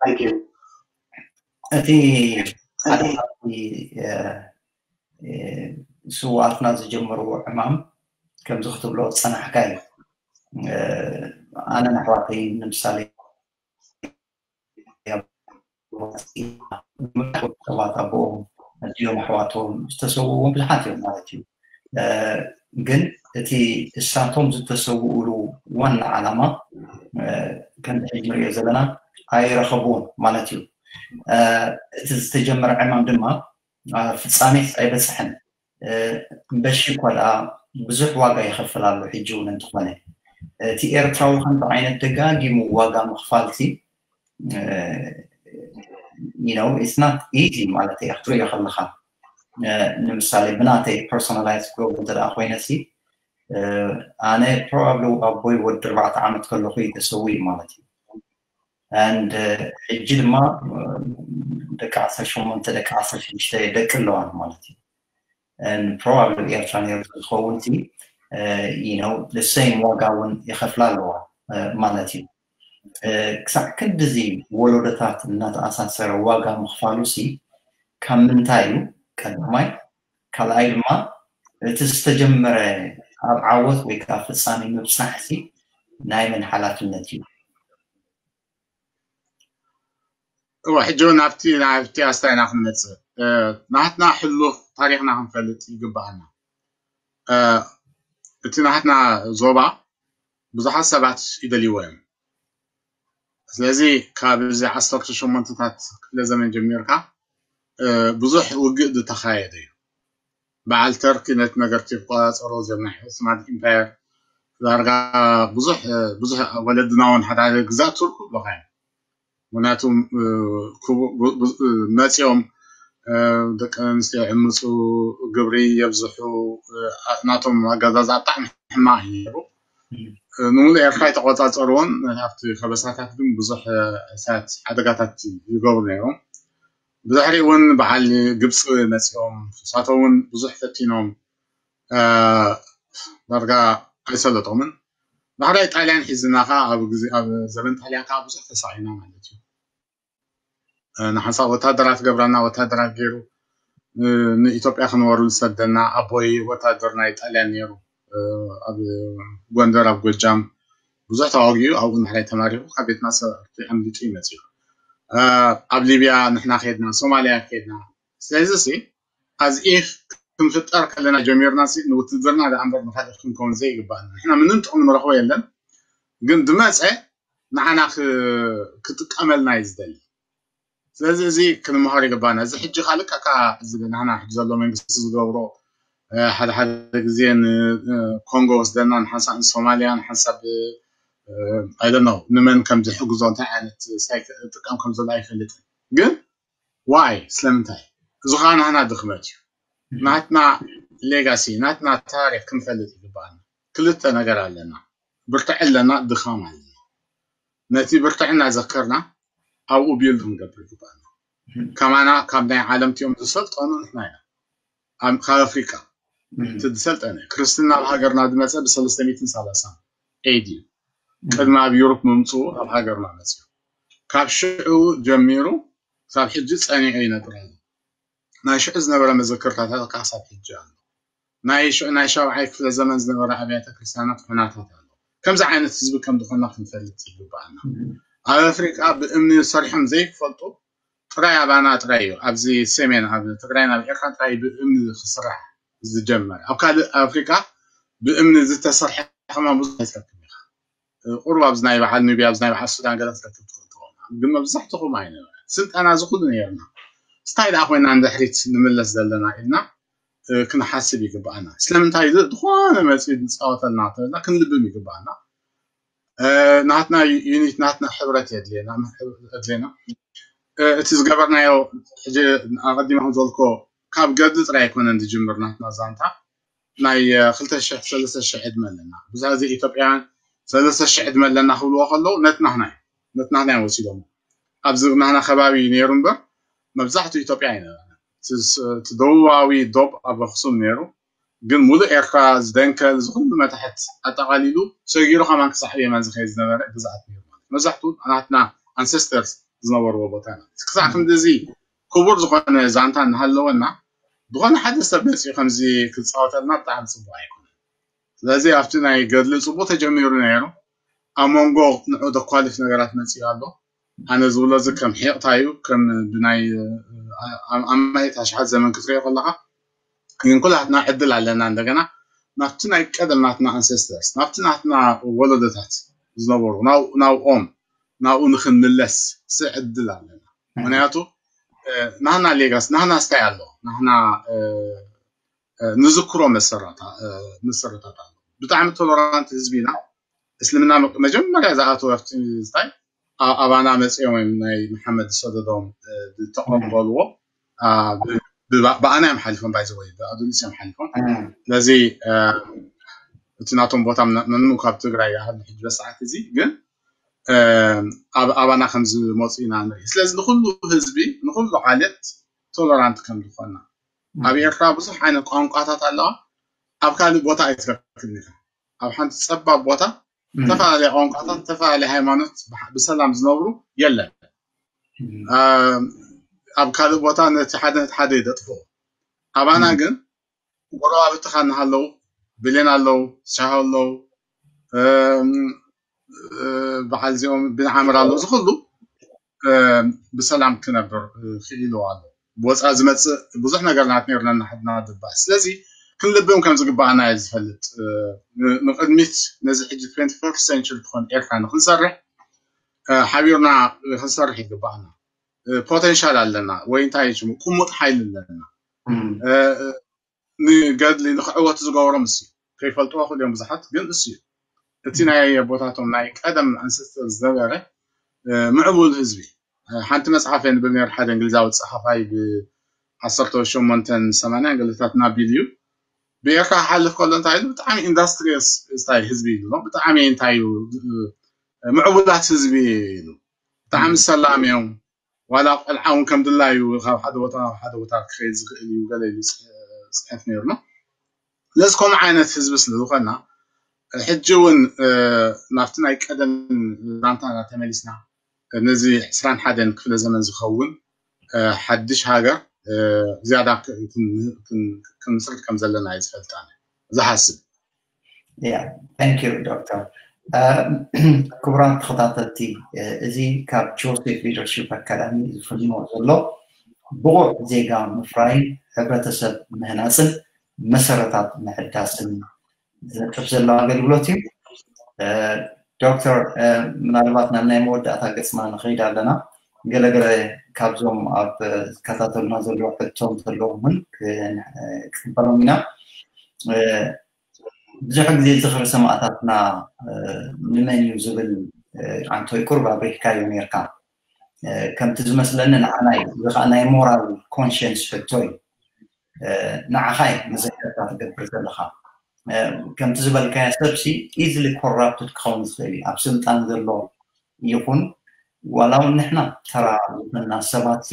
Thank you. እቲ ሓደ ካብቲ ስውኣትና ዝጀመርዎ ዕማም ከምዚ ክትብሎ ዝፀናሕካ እዩ። ኣነ ንኣሕዋተይ ንምሳሌ ሰባት ኣቦኦም ኣዲኦም ኣሕዋቶም ዝተሰውዎም ብዙሓት እዮም ማለት እዩ። ግን እቲ እሳቶም ዝተሰውኡሉ ዋና ዓላማ ከምዚ ሕጂ ንሪኦ ዘለና ኣይረኸብዎን ማለት እዩ። እቲ ዝተጀመረ ዕማም ድማ ፍፃሜ ኣይበፅሐን። እምበሺ እኳ ደኣ ብዙሕ ዋጋ ይኸፍል ኣሎ። ሕጂ እውን እንተኾነ እቲ ኤርትራዊ ከምዚ ዓይነት ደጋጊሙ ዋጋ ምኽፋልሲ you know it's not easy ማለት እዩ ክትሪኦ ከለኻ። ንምሳሌ ብናተይ personalize ክገብሮ እንተ ኮይነሲ ኣነ probably ኣቦይ ወዲ ኣርባዕተ ዓመት ከለኹ እዩ ተሰዊኡ ማለት እዩ። And ሕጂ ድማ ደቂ ዓሰርተ ሸሞንተ ደቂ ዓሰርተ ሽዱሽተ ደቂ ኣለዋን ማለት እዩ። And probably ኤርትራ ነይሩ ዝኸውን ሲ you know the same ዋጋ እውን ይኸፍላ ኣለዋ ማለት እዩ። ክሳዕ ክንድዚ ወለዶታት እናተኣሳሰረ ዋጋ ምኽፋሉ ሲ ካብ ምንታይ እዩ? ቀዳማይ። ካልኣይ ድማ እቲ ዝተጀመረ ኣብ ዓወት ወይ ከዓ ፍፃሜ ምብፃሕ ሲ ናይ መን ሓላፍነት እዩ? እወ ሕጂ እውን ኣብቲ ናብቲ ኣስታይና ክንመፅእ ናትና ሕሉፍ ታሪክና ክንፈልጥ ይግባኣና። እቲ ናትና ዞባ ብዙሓት ሰባት ይደልይዎ እዮም። ስለዚ ካብ እዚ ዓሰርተ ሸሞንተታት ክፍለ ዘመን ጀሚርካ ብዙሕ ውግእ ዝተኻየደ እዩ። በዓል ተርኪ ነቲ ነገር ክቆፃፀሮ ዘመሐ ስማት ኢምፓየር ዳርጋ ብዙሕ ብዙሕ ወለድና እውን ሓደ ሓደ ግዛት ቱርክ ብለካ እዮም። ምክንያቱም መፂኦም ደቂ ኣንስትዮ ዕምፁ፣ ግብሪ የብዝሑ፣ ናቶም ኣገዛዝኣ ብጣዕሚ ሕማቕ እዩ ነይሩ። ንምሉእ ኤርትራ ይተቆፃፀርዎን ኣብቲ ከበሳታት ግን ብዙሕ እሳት ሓደጋታት ይገብሩ ነይሮም። ብድሕሪ እውን በዓል ግብፂ መፂኦም ንሳቶም እውን ብዙሕ ፈቲኖም ዳርጋ ኣይሰለጦምን። ዳሕራይ ጣልያን ሒዝና ከዓ ኣብ ግዜ ኣብ ዘበን ጣልያን ከዓ ብዙሕ ተሳኢና ማለት እዩ። ንሓንሳብ ወታደራት ገብረና ወታደራት ገይሩ ንኢትዮጵያ ክንወሩ ዝሰደና ኣቦይ ወታደር ናይ ጣልያን ነይሩ። ኣብ ጎንደር ኣብ ጎጃም ብዙሕ ተዋጊኡ ኣብኡ ንሕራይ ተማሪኹ ካብ ቤትና ሰብ ኣምሊጡ ይመፅኡ። ኣብ ሊብያ ንሕና ከድና ሶማልያ ከድና። ስለዚ ሲ ኣዚ ክንፍጠር ከለና ጀሚርና ሲ ንውትድርና ደኣ እምበር ንካልእ ክንከውን ዘይግባኣና ንሕና ምንም ጥቕሚ ንረኽቦ የለን። ግን ዝመፀ ንዓና ክጥቀመልና እዩ ዝደሊ። ስለዚ እዚ ክንምሃር ይግባና። እዚ ሕጂ ካልእ ካካ እዚ ናህና ሕጂ ዘሎ መንግስቲ ዝገብሮ ሓደ ሓደ ግዜ ንኮንጎ ወስደና ንሓንሳብ ንሶማልያ ንሓንሳብ ኣይደኖ ንመን ከም ዝሕግዞ እንታይ ዓይነት ሳይ ክጥቀም ከም ዘሎ ኣይፈልጥን። ግን ዋይ ስለምንታይ እዚ ከዓ ናህና ድኽመት እዩ። ናትና ሌጋሲ ናትና ታሪክ ክንፈልጥ ይግባኣና። ክልተ ነገር ኣለና። ብርትዐ ኣለና፣ ድኻም ኣለና። ነቲ ብርትዐ እናዘከርና ኣብኡ ቢልድ ክንገብር ይግባኣና። ከማና ካብ ናይ ዓለም ቲኦም ዝሰልጠኑ ንሕና ኢና። ካብ ኣፍሪቃ እቲ ዝሰልጠነ ክርስትና ኣብ ሃገርና ዝመፀ ብሰለስተ ሚእትን ሰላሳን ኤዲ እዩ። ቅድሚ ኣብ ዩሮፕ ምምፅኡ ኣብ ሃገርና መፅኡ። ካብ ሽዑ ጀሚሩ ክሳብ ሕጂ ፀኒዑ ይነብር ኣሎ። ናይ ሽዑ ዝነበረ መዘክርታታት ከዓ ክሳብ ሕጂ ኣሎ። ናይ ሽዑ ናይ ሻብዓይ ክፍለ ዘመን ዝነበረ ኣብያተ ክርስቲያናት ሑናታት ኣሎ። ከምዚ ዓይነት ህዝቢ ከም ዝኾንና ክንፈልጥ ይግባኣና። ኣብ ኣፍሪቃ ብእምኒ ሰሪሖም ዘይፈልጡ ጥራይ ኣባና ጥራይ እዩ። ኣብዚ ሰሜን ኣብ ትግራይን ኣብ ኤርትራን ጥራይ ብእምኒ ክስራሕ ዝጀመረ። ኣብ ካልእ ኣፍሪቃ ብእምኒ ዝተሰርሐ ከማን ብዙሕ ኣይትረክብ ኢኻ። ቁሩብ ኣብዚ ናይ በዓል ኑብያ ኣብዚ ናይ በዓል ሱዳን ገለ ክትረክብ ትኽእል ትኸውን። ግን መብዛሕትኹም ኣይነበረ ስልጠና እዚ ኩሉ ነይርና። ስታይ ደኣ ኮይና ንድሕሪት ንምለስ ዘለና ኢልና ክንሓስብ ይግባኣና። ስለምንታይ እዚ ዝኾነ መፂኡ ዝፃወተልና ተበልና ክንልብም ይግባኣና። ናትና ዩኒት ናትና ሕብረት የድልየና። እቲ ዝገበርናዮ ሕጂ ኣቐዲመ ከም ዝበልኮ ካብ ገድሊ ጥራይ ኣይኮነን ዝጅምር ናትና ዛንታ ናይ ክልተ ሽሕ ሰለስተ ሽሕ ዕድመ ኣለና። ብዙሕ ግዜ ኢትዮጵያውያን ሰለስተ ሽሕ ዕድመ ኣለና ክብልዎ ከለዉ ነቲ ናህና እዩ ነቲ ናህና እዮም ወሲዶሞ። ኣብዚ ናህና ከባቢ እዩ ነይሩ እምበር መብዛሕትኡ ኢትዮጵያ ኣይነበረን። እቲ ደቡባዊ ዶብ ኣብ ኣኽሱም ነይሩ፣ ግን ሙሉእ ኤርትራ ዝደንከል ዝኩሉ መታሕት ኣጠቓሊሉ ሰጊሩ ከማን ክሳዕ የመን ዝኸይድ ዝነበረ ግዝኣት ነይሩ ማለት እዩ። መብዛሕትኡ ናትና ኣንሰስተርስ ዝነበርዎ ቦታ ኢና። ክሳዕ ክንድዚ ክቡር ዝኾነ ዛንታ እናሃለወና ዝኾነ ሓደ ሰብ መፂኡ ከምዚ ክፃወተልና ብጣዕሚ ፅቡቅ ኣይኮነን። ስለዚ ኣብቲ ናይ ገድሊ ፅቡቅ ተጀሚሩ ነይሩ። ኣብ መንጎ ንዑ ዘኳልፍ ነገራት መፂኡ ኣሎ። ኣነ ዝብሎ እዚ ከም ሒቕታ እዩ፣ ከም ብናይ ኣማይት ኣሽሓት ዘመን ክትሪኦ ከለካ ግን ኩላትና ዕድል ኣለና እንደገና ናብቲ ናይ ቀደም ናትና ኣንሰስተርስ ናብቲ ናትና ወለዶታት ዝነበሩ ናብኦም ናብኡ ንክንምለስ ስ ዕድል ኣለና። ምክንያቱ ናህና ሌጋስ ናህና ስታይ ኣሎ ናህና ንዝክሮ መሰረታት ኣሎ። ብጣዕሚ ቶለራንት ህዝቢ ኢና። እስልምና መጀመርያ ዝኣተወ ኣብቲ ስታይ ኣባና መፅኦም ናይ መሓመድ ዝሰደዶም ዝተቐበልዎ ብኣና እዮም ሓሊፎም ባይዘወይ ብኣዱሊስ እዮም ሓሊፎም። ስለዚ እቲ ናቶም ቦታ መኑ ካብ ትግራይ ይሃሉ ሕጂ በሰዓት እዚ ግን ኣባና ከም ዝመፁ ኢና ንርኢ። ስለዚ ንኩሉ ህዝቢ ንኩሉ ዓሌት ቶለራንት ከም ዝኾና ኣብ ኤርትራ ብዙሕ ዓይነት ቋንቋታት ኣለዋ። ኣብ ካልእ ቦታ ኣይትረክብን ኢኻ። ኣብ ሓንቲ ፀባብ ቦታ ዝተፈላለየ ቋንቋታት ዝተፈላለየ ሃይማኖት ብሰላም ዝነብሩ የለን። ኣብ ካልእ ቦታ ነቲ ሓደ ነቲ ሓደ የደጥፍኦ። ኣባና ግን ጎረባብትኻ እናሃለዉ ብሌን ኣለዉ፣ ሻሂ ኣለዉ፣ በዓል እዚኦም ብንዓምር ኣለዉ፣ እዚ ኩሉ ብሰላም ክነብር ክኢሉ ኣሎ። ብወፃኢ ዝመፅእ ብዙሕ ነገር ናት ነርና እናሓድና ድባእ። ስለዚ ክንልብም ከም ዝግባኣና እየ ዝፈልጥ። ንቅድሚት ነዚ ሕጂ ትዌንቲ ፈርስት ሴንቸሪ ትኾን ኤርትራ ንክንሰርሕ ሓቢርና ክንሰርሕ ይግባኣና። ፖቴንሻል ኣለና ወይ እንታይ ሽሙ ቁሙጥ ሓይሊ ኣለና። ንገድሊ ንክዕወቱ ዝገበሮም እሱ እዩ። ከይፈልጥዎ ክእል እዮም ብዙሓት፣ ግን እሱ እዩ እቲ ናይ ኣቦታቶም ናይ ቀደም ኣንሰስተር ዝነበረ ምዕቡል ህዝቢ። ሓንቲ መፅሓፍ የንብል ነር ሓደ እንግሊዛዊ ፀሓፋይ ብ ዓሰርተ ሸሞንተን ሰማንያን ገለታት ናቢል እዩ ብኤርትራ ክሓልፍ ከሎ እንታይ ኢሉ ብጣዕሚ ኢንዳስትሪየስ ስታይ ህዝቢ ኢሉ ብጣዕሚ እንታይ እዩ ምዕቡላት ህዝቢ ኢሉ ብጣዕሚ ሰላም እዮም። ዋላ ቆልዓ እውን ከም ድላዩ ካብ ሓደ ቦታ ናብ ሓደ ቦታ ክኸይድ ዝኽእል እዩ ገለ ኢሉ ፅሕፍ ነይሩና። ስለዚ ከምኡ ዓይነት ህዝቢ ስለ ዝኾና ሕጂ እውን ናብቲ ናይ ቀደም ዛንታና ተመሊስና ነዚ ዕስራን ሓደን ክፍለ ዘመን ዝኸውን ሓድሽ ሃገር ዝያዳ ክንምስርት ከም ዘለና እዩ ዝፈልጥ ኣነ ዝሓስብ። Yeah, thank you ዶክተር። ክቡራት ተኸታተልቲ፣ እዚ ካብ ጆሴፍ ሊደርሺፕ ኣካዳሚ ዝፍኖ ዘሎ ብቑዕ ዜጋ ምፍራይን ሕብረተሰብ ምህናፅን መሰረታት ምሕዳስን ዝነጥፍ ዘሎ ኣገልግሎት እዩ። ዶክተር፣ ምናልባት ናብ ናይ መወዳእታ ገፅና ንኸይድ ኣለና። ገለገለ ካብዞም ኣብ ዝከታተሉና ዘለዉ ሕቶ እንተለዎም እውን ክቅበሎም ኢና። ብዙሕ ግዜ ዝኽሪ ሰማእታትና ንመን እዩ ዝብል ኣንቶይ ቁሩብ ኣብሪህካዮ ነርካ። ከምቲ ዝመስለኒ ንዓና እዩ። እዚ ከዓ ናይ ሞራል ኮንሽንስ ሕቶ እዩ። ንዓኻ እዩ መዘከርታ ትገብር ዘለኻ። ከምቲ ዝበልካዮ ሰብሲ ኢዝሊ ኮራፕትድ ክኸውን ዝኽእል እዩ። ኣብ ስልጣን ዘሎ ይኹን ዋላ እውን ንሕና ተራ ዝኾንና ሰባት እቲ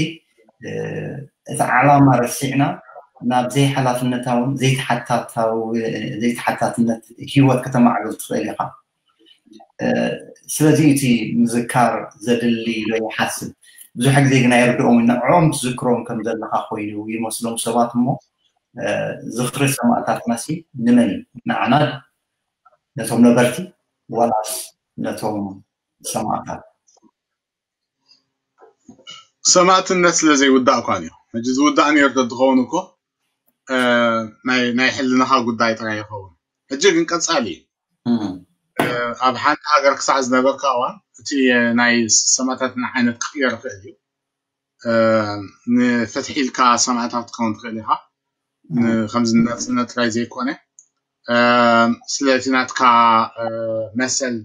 ዓላማ ረሲዕና ናብ ዘይሓላፍነታውን ዘይተሓታትነት ሂወት ከተማዕብል ትኽእል ኢኻ። ስለዚ እቲ ምዝካር ዘድሊ ኢሎ ይሓስብ። ብዙሕ ግዜ ግን ኣይርድኦም ንዕኦም ትዝክሮም ከም ዘለካ ኮይኑ ይመስሎም ሰባት እሞ ዝኽሪ ሰማእታትና ሲ ንመን እዩ? ንዓና ነቶም ነበርቲ ዋላስ ነቶም ሰማእታት? ሰማእትነት ስለ ዘይውዳእ እኳ እዩ። ሕጂ ዝውዳእ ነይሩ ተዝኸውን እኮ ናይ ሕልናኻ ጉዳይ ጥራይ ይኸውን። ሕጂ ግን ቀጻሊ እዩ። ኣብ ሓንቲ ሃገር ክሳዕ ዝነበርካ እዋን እቲ ናይ ሰማእታትና ዓይነት ክቅየር ይኽእል እዩ። ንፍትሒ ኢልካ ሰማእታት ትኸውን ትኽእል ኢኻ። ከምዚ ናጽነት ጥራይ ዘይኮነ ስለቲ ናትካ መሰል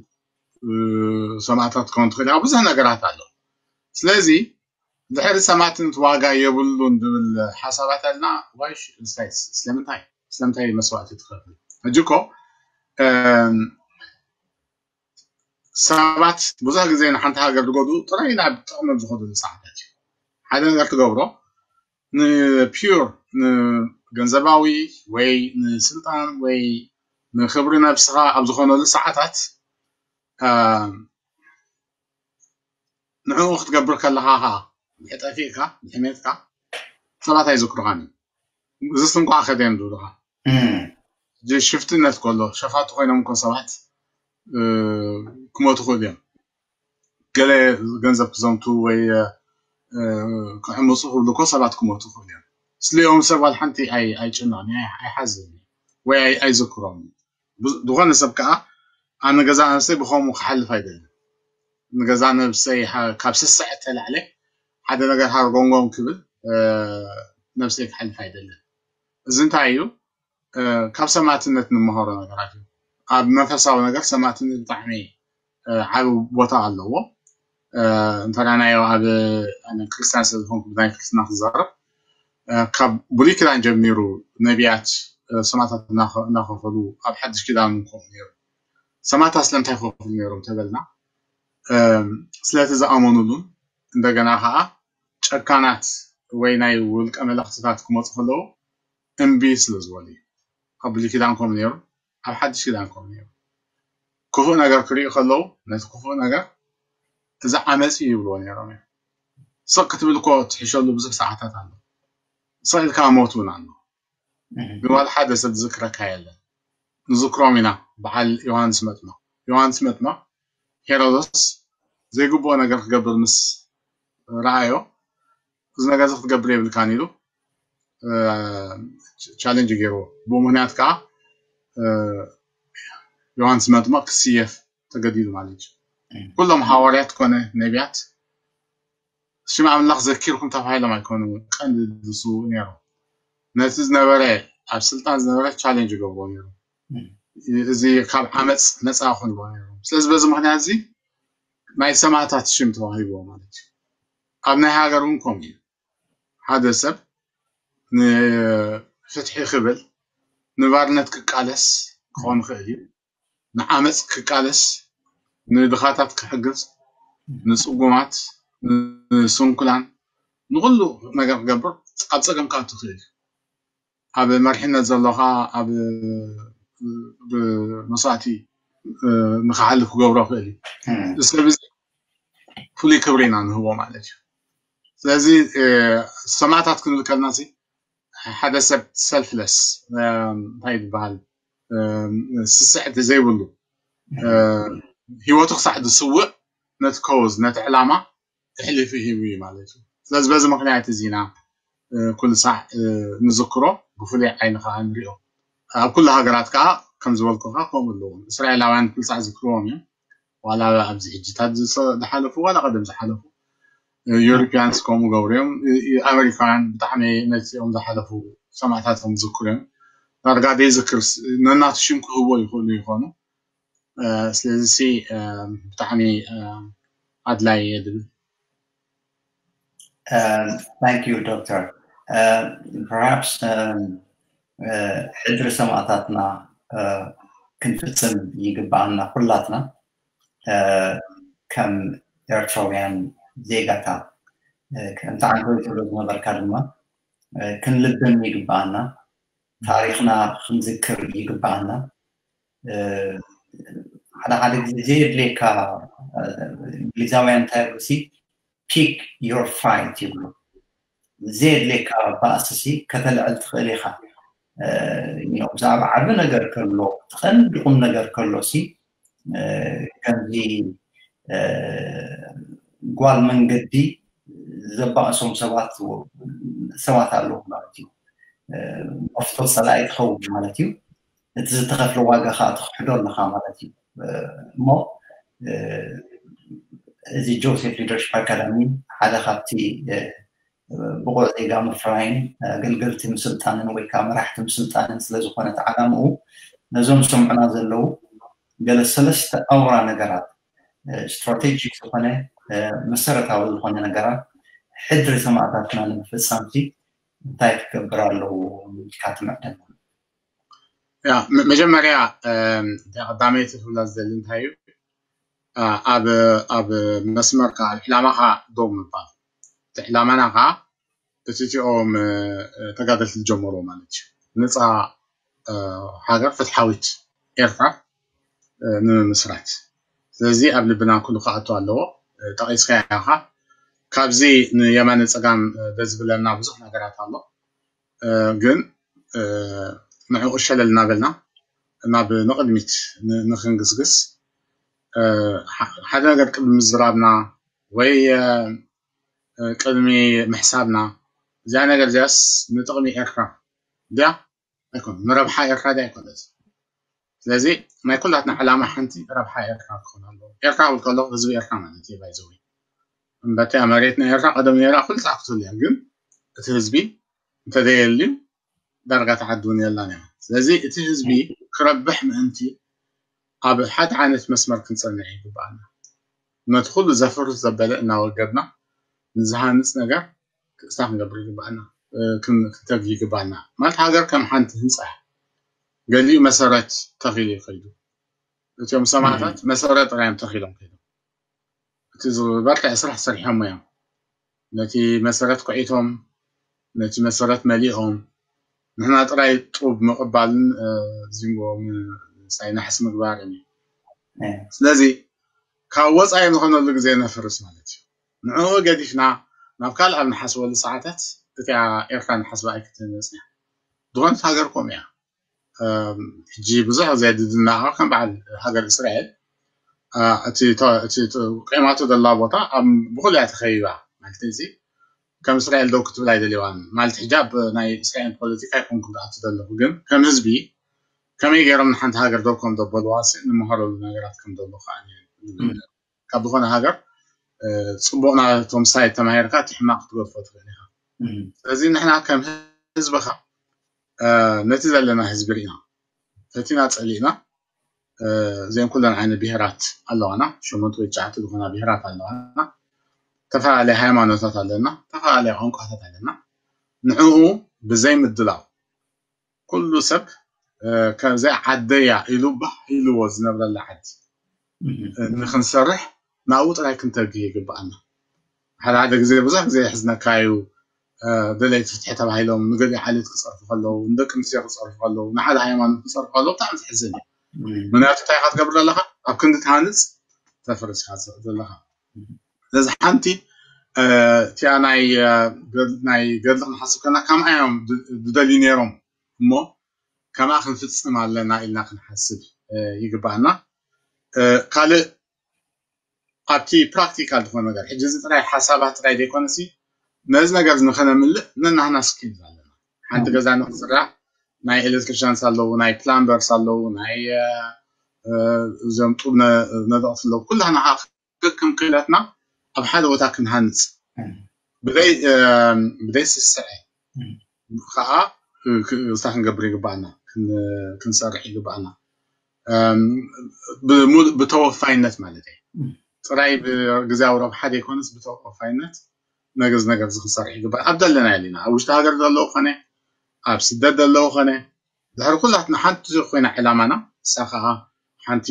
ሰማእታት ትኸውን ትኽእል ኢኻ። ብዙሕ ነገራት ኣሎ። ስለዚ ድሕሪ ሰማእትነት ዋጋ የብሉን ዝብል ሓሳባት ኣልና ዋይሽ ስለምንታይ ስለምንታይ መስዋእቲ ትኸፍል? ሕጂ እኮ ሰባት ብዙሕ ግዜ ንሓንቲ ሃገር ዝጎድኡ ጥራይ ናብ ጥቕሚ ዝኸዱሉ ሰዓታት እዩ። ሓደ ነገር ትገብሮ ንፒር ንገንዘባዊ ወይ ንስልጣን ወይ ንክብሪ ነብስኻ ኣብ ዝኾነሉ ሰዓታት ከምኡ ክትገብር ከለኻ ከዓ ብሕጠፊእካ ብሕሜትካ ሰባት ኣይዝክሩኻን እዮም። እዚ ስንቋዕ ከደዮም ዝብሉኻ ሽፍትነት ከሎ ሸፋቱ ኮይኖም እኮ ሰባት ክሞቱ ክእሉ እዮም። ገለ ገንዘብ ክዘምቱ ወይ ክዕምፁ ክብሉ እኮ ሰባት ክሞቱ ክእሉ እዮም። ስሊኦም ሰብ ዋላ ሓንቲ ኣይጭነቕን ኣይሓዝን ወይ ኣይዝክሮም። ዝኾነ ሰብ ከዓ ኣነ ገዛ ነብሰይ ብኸምኡ ክሓልፍ ኣይደልን። ንገዛ ነብሰይ ካብ ስስዐ ተላዕለ ሓደ ነገር ሃርጎንጎን ክብል ነብሰይ ክሓልፍ ኣይደልን። እዚ እንታይ እዩ? ካብ ሰማዕትነት ንመሃሮ ነገራት እዩ። ኣብ መንፈሳዊ ነገር ሰማዕትነት ብጣዕሚ ዓብ ቦታ ኣለዎ። እንተናዮ ኣብ ክርስትያን ስለዝኾንኩ ብናይ ክርስትና ክዛረብ ካብ ብሉይ ኪዳን ጀሚሩ ነቢያት ሰማዕታት እናኸፈሉ ኣብ ሓድሽ ኪዳን ከምኡ ነይሩ። ሰማዕታት ስለምንታይ ይኸፍሉ ነይሮም ተበልና ስለቲ ዝኣመኑሉን እንደገና ከዓ ጨካናት ወይ ናይ ውልቀ መለኽትታት ክመፁ ከለዉ እምቢ ስለ ዝበሉ እዩ። ኣብ ብሉይ ኪዳን ከምኡ ነይሩ፣ ኣብ ሓድሽ ኪዳን ከምኡ ነይሩ። ክፉእ ነገር ክርእዩ ከለዉ ነቲ ክፉእ ነገር እዚ ዓመፅ እዩ ይብልዎ ነይሮም እዮም። ስቕ ክትብል እኮ ትሕሸሉ ብዙሕ ሰዓታት ኣሎ። ስቕ ኢልካ ሞት እውን ኣሎ። ግን ዋላ ሓደ ሰብ ዝዝክረካ የለን። ንዝክሮም ኢና በዓል ዮሃንስ መጥምቕ። ዮሃንስ መጥምቕ ሄሮዶስ ዘይግብኦ ነገር ክገብር ምስ ረኣዮ እዚ ነገር እዚ ክትገብር የብልካን ኢሉ ቻለንጅ ገይርዎ። ብኡ ምክንያት ከዓ ዮሃንስ መጥምቕ ክስየፍ ተገዲዱ ማለት እዩ። ኩሎም ሃዋርያት ኮነ ነቢያት ሽም ኣምላኽ ዘኪርኩም ተባሂሎም ኣይኮኑ ቀንዲ ዝስውኡ ነይሮም። ነቲ ዝነበረ ኣብ ስልጣን ዝነበረ ቻሌንጅ ይገብርዎ ነይሮም። እዚ ካብ ዓመፅ ነፃ ክኾንዎ ነይሮም። ስለዚ በዚ ምክንያት እዚ ናይ ሰማዕታት ሽም ተዋሂብዎ ማለት እዩ። ኣብ ናይ ሃገር እውን ከምኡ እዩ። ሓደ ሰብ ንፍትሒ ክብል ንባርነት ክቃለስ ክኾን ይኽእል እዩ። ንዓመፅ ክቃለስ፣ ንድኻታት ክሕግዝ፣ ንፅጉማት፣ ንስንኩላን፣ ንኩሉ ነገር ክገብር ኣብ ፀገም ክኣቱ ይኽእል እዩ። ኣብ መሪሕነት ዘሎ ከዓ ኣብ ብመስዋእቲ ንክሓልፍ ክገብሮ ይኽእል እዩ። እዚ ሰብ እዚ ፍሉይ ክብሪ ኢና ንህቦ ማለት እዩ። ስለዚ ሰማዕታት ክንብል ከለና ሓደ ሰብ ሰልፍለስ እንታይ ዝበሃል ስስዕቲ ዘይብሉ ሂወቱ ክሳዕ ዝስውእ ነቲ ኮዝ ነቲ ዕላማ ኣሕሊፉ ሂቡ እዩ ማለት እዩ። ስለዚ በዚ ምክንያት እዚ ኢና ኩሉ ሳዕ ንዝክሮ፣ ብፍሉይ ዓይኒ ከዓ ንሪኦ። ኣብ ኩሉ ሃገራት ከዓ ከም ዝበልኩካ ከምኡ ኣለዎም። እስራኤላውያን ኩሉ ሳዕ ዝክርዎም እዮም። ዋላ ኣብዚ ሕጂታት ዝሓለፉ ዋላ ቀደም ዝሓለፉ ዩሮፒያንስ ከምኡ ገብሩ እዮም። ኣሜሪካውያን ብጣዕሚ ነዚኦም ዝሓለፉ ሰማዕታቶም ዝክሩ እዮም። ዳርጋ ዘይዝክር ነናቱ ሽም ክህቦ ይኽእሉ ይኾኑ። ስለዚ ብጣዕሚ ኣድላይ እየ ድብል። Thank you, Doctor. Perhaps ሕድሪ ሰማእታትና ክንፍጽም ይግባኣና ኩላትና ከም ኤርትራውያን ዜጋታት። ከምቲ ዓንተወይ ትብሎ ዝነበርካ ድማ ክንልብም ይግባኣና፣ ታሪኽና ክንዝክር ይግባኣና። ሓደ ሓደ ግዜ ዘየድልየካ እንግሊዛውያን እንታይ ይብሉ ሲ pick your fight ይብሉ። ዘየድልየካ ባእሲ ሲ ከተልዕል ትኽእል ኢኻ። ብዛዕባ ዓቢ ነገር ከሎ እቲ ቀንዲ ቁም ነገር ከሎ ሲ ከምዚ ጓል መንገዲ ዘባእሶም ሰባት ሰባት ኣለዉ ማለት እዩ። መፍቶ ፀላኢ ትኸውን ማለት እዩ። እቲ ዝተኸፍለ ዋጋ ከዓ ትኽሕዶ ኣለኻ ማለት እዩ። እሞ እዚ ጆሴፍ ሊደርሽፕ ኣካዳሚ ሓደ ካብቲ ብቑዕ ዜጋ ምፍራይን ኣገልገልቲ ምስልጣንን ወይ ከዓ መራሕቲ ምስልጣንን ስለዝኾነ እቲ ዓላምኡ ነዞም ዝሰምዑና ዘለዉ ገለ ሰለስተ ኣውራ ነገራት ስትራቴጂክ ዝኾነ መሰረታዊ ዝኾነ ነገራት ሕድሪ ሰማእታትና ንምፍፃም ሲ እንታይ ክገብር ኣለዎ ኢልካ ትምዕደና? ያ መጀመርያ ቀዳመይቲ ክብላ ዝደሊ እንታይ እዩ ኣብ ኣብ መስመርካ ኣብ ዕላማኻ ደው ምባል። እቲ ዕላማና ከዓ እቲ እቲኦም ተጋደልቲ ዝጀመርዎ ማለት እዩ። ነፃ ሃገር ፍትሓዊት ኤርትራ ንምምስራት። ስለዚ ኣብ ልብና ኩሉ ክኣቱ ኣለዎ። ጠቒስካዮ ኢኻ። ካብዚ ንየማነ ጸጋም ደዝብለና ብዙሕ ነገራት ኣሎ። ግን ንዕኡ ሸለል እናበልና ናብ ንቕድሚት ንክንግስግስ ሓደ ነገር ቅድሚ ምዝራብና ወይ ቅድሚ ምሕሳብና እዚኣ ነገር እዚኣስ ንጥቕሚ ኤርትራ ድያ ኣይኮነ ንረብሓ ኤርትራ ድያ ኣይኮነት። ስለዚ ናይ ኩላትና ዕላማ ሓንቲ ረብሓ ኤርትራ ክኾን ኣለዎ። ኤርትራ ክብል ከለኹ ህዝቢ ኤርትራ ማለት እዩ ባይዘዊ እምበቲ መሬት ናይ ኤርትራ ቀደም ነራ ኩልታ ክትህሉ እያ። ግን እቲ ህዝቢ እንተዘየልዩ ዳርጋ ተዓዲ እውን የላን እያ። ስለዚ እቲ ህዝቢ ክረብሕ ምእንቲ ኣብ ሓደ ዓይነት መስመር ክንጸንዕ ይግባኣና። ነቲ ኩሉ ዘፍርስ ዘበለ እናወገድና ንዝሃንጽ ነገር ክእስታ ክንገብር ይግባኣና፣ ክንተግ ይግባኣና። ማለት ሃገር ከም ሓንቲ ህንፃ እያ። ገሊኡ መሰረት ተኺሉ ይኸይዱ። እቲኦም ሰማዕታት መሰረት ጥራዮም ተኺሎም ከይዶም እቲ ዝበርትዐ ስራሕ ሰሪሖሞ እዮም። ነቲ መሰረት ኮዒቶም ነቲ መሰረት መሊኦም ንሕና ጥራይ ጡብ ምቕባልን ዚንጎ ሳይ ናሕሲ ምግባርን እዩ። ስለዚ ካብ ወፃኢ ዝኾነሉ ግዜ ነፍርስ ማለት እዩ። ንዕኡ ገዲፍና ናብ ካልእ ኣብ ንሓስበሉ ሰዓታት እቲኣ ኤርትራ ንሓስባ ኣይክትህነጽ እያ። ዝኾነት ሃገር ከምኡ እያ። ሕጂ ብዙሕ ግዜ ድድናቐ ከም በዓል ሃገር እስራኤል እቲ ቆይማቶ ዘላ ቦታ ብኩሉ እያ ተኸቢባ ማለት እዚ ከም እስራኤል ደው ክትብል ኣይደልዋን ማለት ሕጂ ኣብ ናይ እስራኤል ፖለቲካ ኣይኮንኩ ዝኣቱ ዘለኹ ግን ከም ህዝቢ ከመይ ገይሮም ንሓንቲ ሃገር ደው ከም ዘበልዋ ንምሃረሉ ነገራት ከም ዘሎ ከዓ ካብ ዝኾነ ሃገር ፅቡቕ ናቶም ሳይት ተማሂርካ እቲ ሕማቕ ክትገድፎ ትኽእል ኢኻ። ስለዚ ንሕና ከም ህዝብኻ ነቲ ዘለና ህዝቢ ርኢና ፈቲና ፀሊእና እዚኦም ኩለን ዓይነት ብሄራት ኣለዋና ሸሞንተ ወይ ትሽዓተ ዝኾና ብሄራት ኣለዋና ዝተፈላለየ ሃይማኖታት ኣለና ዝተፈላለየ ቋንቋታት ኣለና ንዕኡ ብዘይ ምድላው ኩሉ ሰብ ከምዚ ዓደያ ኢሉ ባህ ኢልዎ ዝነብረላ ዓዲ ንክንሰርሕ ናብኡ ጥራይ ክንተግህ ይግባኣና ሓደ ሓደ ግዜ ብዙሕ ግዜ የሕዝነካ እዩ ደለይቲ ፍትሒ ተባሂሎም ንገሊኡ ዓሌት ክፀርፉ ከለዉ ንደቂ ኣንስትዮ ክፀርፉ ከለዉ ንሓደ ሃይማኖት ክፀርፉ ከለዉ ብጣዕሚ ዘሕዝን እዩ ምክንያቱ እንታይ ኢካ ትገብር ዘለካ ኣብ ክንዲ ትሃንፅ ተፍርስ ኢካ ዘለካ ስለዚ ሓንቲ እቲኣ ናይ ገድሊ ክንሓስብ ከለና ከምኣ እዮም ዝደልዩ ነይሮም እሞ ከምኣ ክንፍፅም ኣለና ኢልና ክንሓስብ ይግባኣና ካልእ ኣብቲ ፕራክቲካል ዝኾነ ነገር ሕጂ እዚ ጥራይ ሓሳባት ጥራይ ዘይኮነሲ ነዚ ነገር ንኸነምልእ ነናህና ስኪል ኣለና ሓንቲ ገዛ ንክስራሕ ናይ ኤሌክትሪሽንስ ኣለዉ ናይ ፕላምበርስ ኣለዉ ናይ እዞም ጡብ ነደቕቲ ኣለዉ ኩላህና ከዓ ክክም ክእለትና ኣብ ሓደ ቦታ ክንሃንፅ ብደይ ስስዐ ከዓ እዛ ክንገብር ይግባኣና ክንሰርሕ ይግባኣና ብተወፋይነት ማለት እዩ ጥራይ ብግዜያዊ ረብሓ ዘይኮነስ ብተወፋይነት ነግዝ ነገር እዚ ክንሰርሕ ይግባእ ኣብ ዘለና ያለና ኣብ ውሽጢ ሃገር ዘለዉ ኮነ ኣብ ስደት ዘለዉ ኮነ ድሕሪ ኩላትና ሓንቲ ኮይና ዕላማና እሳ ከዓ ሓንቲ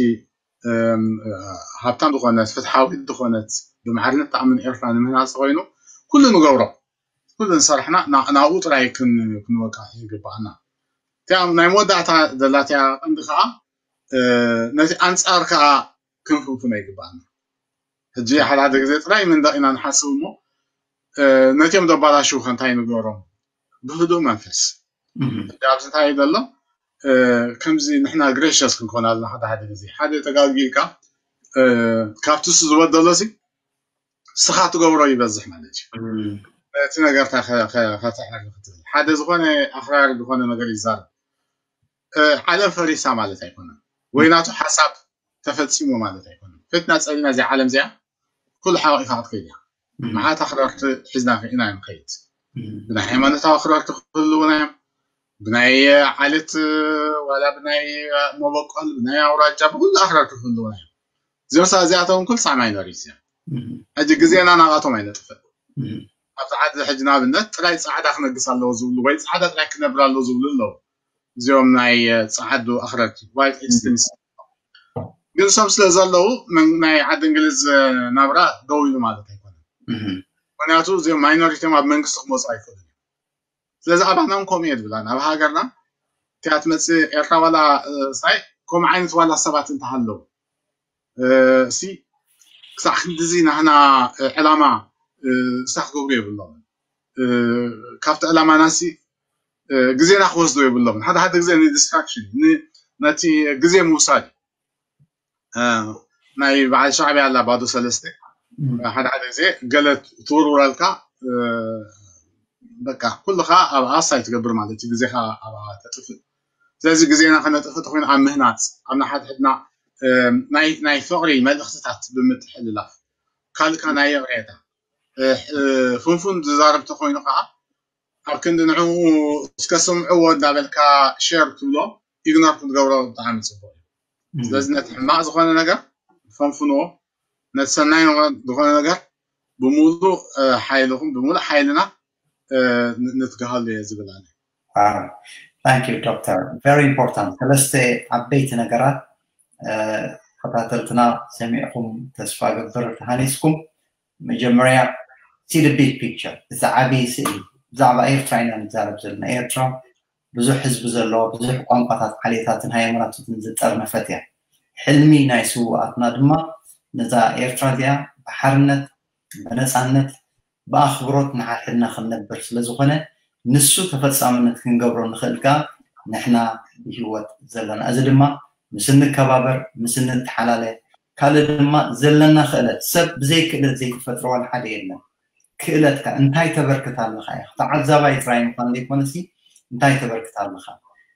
ሃብታም ዝኾነት ፍትሓዊት ዝኾነት ብማዕርነት ተኣምን ኤርትራ ንምህናፅ ኮይኑ ኩሉ ንገብሮ ኩሉ ንሰርሕና ናብኡ ጥራይ ክንወቃዕ ይግባኣና እቲኣ ናይ መወዳእታ ዘላትያ ቀንዲ ከዓ ነቲ ኣንፃር ከዓ ክንፍንፍኖ ይግባኣና ሕጂ ሓደ ሓደ ግዜ ጥራይ መንደቕ ኢና ንሓስብ እሞ ነቲኦም ዘባላሽው ከ እንታይ ንገሮም ብህዱእ መንፈስ ኣብዚ እንታይ እዩ ዘሎ ከምዚ ንሕና ግሬሽስ ክንኮን ኣለና ሓደ ሓደ ግዜ ሓደ ተጋጊልካ ካብቲ እሱ ዝበደሎ ሲ ስኻ ትገብሮ ይበዝሕ ማለት እዩ እቲ ነገርታ ከተዕሪ ክትብል ሓደ ዝኾነ ኣኽራሪ ዝኾነ ነገር ይዛረብ ዓለም ፈሪሳ ማለት ኣይኮነን ወይ ናቱ ሓሳብ ተፈፂሙ ማለት ኣይኮነን ፍትና ፀሊና እዚኣ ዓለም እዚኣ ኩሉ ሓቂፋ ክትከይድ እያ መዓት ኣኽረርቲ ሒዝና ኢና ንኸይድ ብናይ ሃይማኖታዊ ኣኽረርቲ ክህልውና እዮም ብናይ ዓሌት ዋላ ብናይ መበቆል ብናይ ኣውራጃ ብኩሉ ኣኽረርቲ ክህልውና እዮም እዚኦም እዚኣቶም ኩል ሳብ ማይኖሪቲ እዮም ሕጂ ግዜና ናባቶም ኣይነጥፍእ ኣብዚ ዓዲ ሕጂ ንኣብነት ጥራይ ፃዕዳ ክነግስ ኣለዎ ዝብሉ ወይ ፃዕዳ ጥራይ ክነብር ኣለዎ ዝብሉ ኣለዉ እዚኦም ናይ ፃዓዱ ኣኽረርቲ ዋይት ኤክስትሪምስ ግን እሶም ስለ ዘለዉ ናይ ዓዲ እንግሊዝ ናብራ ደው ኢሉ ማለት ኣይኮነን ምክንያቱ እዚኦም ማይኖሪቲ እዮም ኣብ መንግስቲ ክመፁ ኣይክእሉን እዮም ስለዚ ኣባና እውን ከምኡ እየ ዝብላ ናብ ሃገርና እቲኣ ትመፅእ ኤርትራ ዋላ ሳይ ከምኡ ዓይነት ዋላ ሰባት እንተሃለዉ እሲ ክሳዕ ክንድዚ ናህና ዕላማ ስራሕ ክገብሩ የብሎም። ካብቲ ዕላማናሲ ግዜና ክወስዶ የብሎም። ሓደ ሓደ ግዜ ንዲስትራክሽን ነቲ ግዜ ምውሳድ ናይ በዓል ሻዕብያ ኣላ ባዶ ሰለስተ ሓደ ሓደ ግዜ ገለ ትውርውረልካ በቃ ኩልኻ ኣብ ኣሳይ ትገብር ማለት እዩ ግዜኻ ኣብ ተጥፍእ። ስለዚ ግዜና ከነጥፍእ ተኮይኑ ኣብ ምህናፅ ኣብ ንሓድሕድና ናይ ፍቕሪ መልእኽትታት ብምትሕልላፍ ካልካ ናይ ይቕሬታ ፍንፉን ዝዛረብ ተኮይኑ ከዓ ኣብ ክንዲ ንዕኡ እስከ ስምዕዎ እንዳበልካ ሸር ትብሎ ኢግኖር ክትገብሮ ብጣዕሚ ፅቡቅ እዩ። ስለዚ ነቲ ሕማቅ ዝኮነ ነገር ፈንፍንዎ፣ ነቲ ሰናይ ዝኾነ ነገር ብሙሉእ ሓይልኹም ብሙሉእ ሓይልና ንትግሃሉ እየ ዝብል ኣነ። Thank you doctor, very important። ሰለስተ ዓበይቲ ነገራት ተኸታተልትና ሰሚዕኩም ተስፋ ገብር ተሃኒስኩም። መጀመርያ see the big picture፣ እዚ ዓብዪ ስእሊ። ብዛዕባ ኤርትራ ኢና ንዛረብ ዘለና። ኤርትራ ብዙሕ ህዝቢ ዘለዋ፣ ብዙሕ ቋንቋታት፣ ዓሌታትን ሃይማኖታትን ዝጠርነፈት እያ። ሕልሚ ናይ ስውኣትና ድማ ነዛ ኤርትራ እዚኣ ብሓርነት ብነፃነት ብኣኽብሮት ንሓድሕድና ክንነብር ስለዝኾነ ንሱ ተፈፃምነት ክንገብሮ ንኽእል ከዓ ንሕና ብሂወት ዘለና። እዚ ድማ ምስ እንከባበር፣ ምስ እንተሓላለ፣ ካልእ ድማ ዘለና ክእለት፣ ሰብ ብዘይ ክእለት ዘይተፈጥረ ዋላ ሓደ የለን። ክእለትካ እንታይ ተበርክት ኣለኻ ኢኻ። ተዓዛባይ ጥራይ ምዃን ዘይኮነሲ እንታይ ተበርክት ኣለኻ።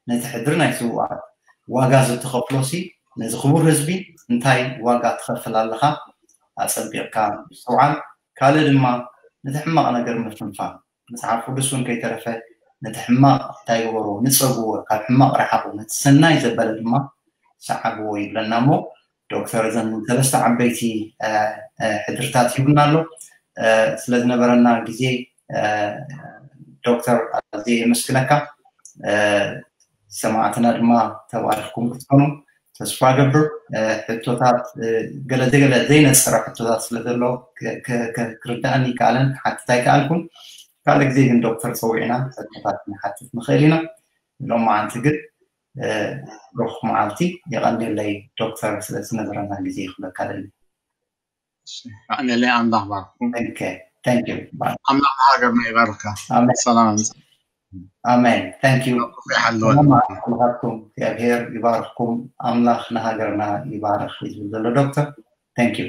ነቲ ሕድሪ ናይ ስውኣት ዋጋ ዝተኸፍሎሲ ነዚ ክቡር ህዝቢ እንታይ ዋጋ ትኸፍል ኣለኻ ኣጸቢቕካ ምስትውዓል። ካልእ ድማ ነቲ ሕማቕ ነገር ምፍንፋን። መጽሓፍ ቅዱስ እውን ከይተረፈ ነቲ ሕማቕ እንታይ ግበርዎ፣ ንጸግዎ፣ ካብ ሕማቕ ረሓቑ፣ ነቲ ሰናይ ዘበለ ድማ ሰዓብዎ ይብለና እሞ ዶክተር እዘን ሰለስተ ዓበይቲ ሕድርታት ሂቡና ኣሎ። ስለዝነበረና ግዜ ዶክተር ኣዝየ የመስግነካ። ሰማዕትና ድማ ተባሪኽኩም ክትኮኑ ተስፋ ገብር። ሕቶታት ገለ ዘይገለ ዘይነፀረ ሕቶታት ስለዘሎ ክርዳእኒ ይከኣለን ክሓትት ኣይከኣልኩን። ካልእ ግዜ ግን ዶክተር ፀዊዕና ሕቶታት ንሓትት ንኽእል ኢና። ሎማዓንቲ ግን ብሩኽ መዓልቲ። የቐንየለይ ዶክተር ስለዝነበረና ግዜ ክብለካ ደሊ። ኣሜን። ኣምላኽ ባርኩም። ኣምላኽ ሃገርና ይባርካ። ሰላም ኣሜን። Thank you። ይሓልወልኩም። እግዚኣብሔር ይባርኩም። ኣምላኽ ንሃገርና ይባርክ ዝብል ዘሎ ዶክተር። Thank you።